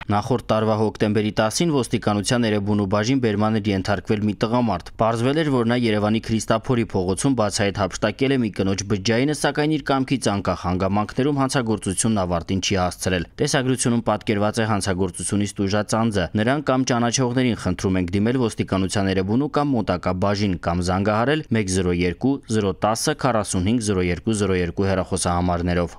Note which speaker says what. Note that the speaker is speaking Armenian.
Speaker 1: Նախորդ տարվա հոկտեմբերի 10-ին ոստիկանության Էրեբունու բաժին բերման էր ենթարկվել մի տղամարդ։ Պարզվել էր, որ նա Երևանի Քրիստափորի փողոցում բացահայտ հափշտակել է մի կնոջ բջջայինը, սակայն իր կամքից անկախ հանգամանքներում հանցագործությունն ավարտին չի հասցրել։ Տեսագրությունում պատկերված է հանցագործությունից տուժած անձը։ Նրան կամ ճանաչողներին խնդրում ենք դիմել ոստիկանության Էրեբունու կամ մոտակա բաժին կամ զանգահարել 102 010 45 0202 հեռախոսահամարներով։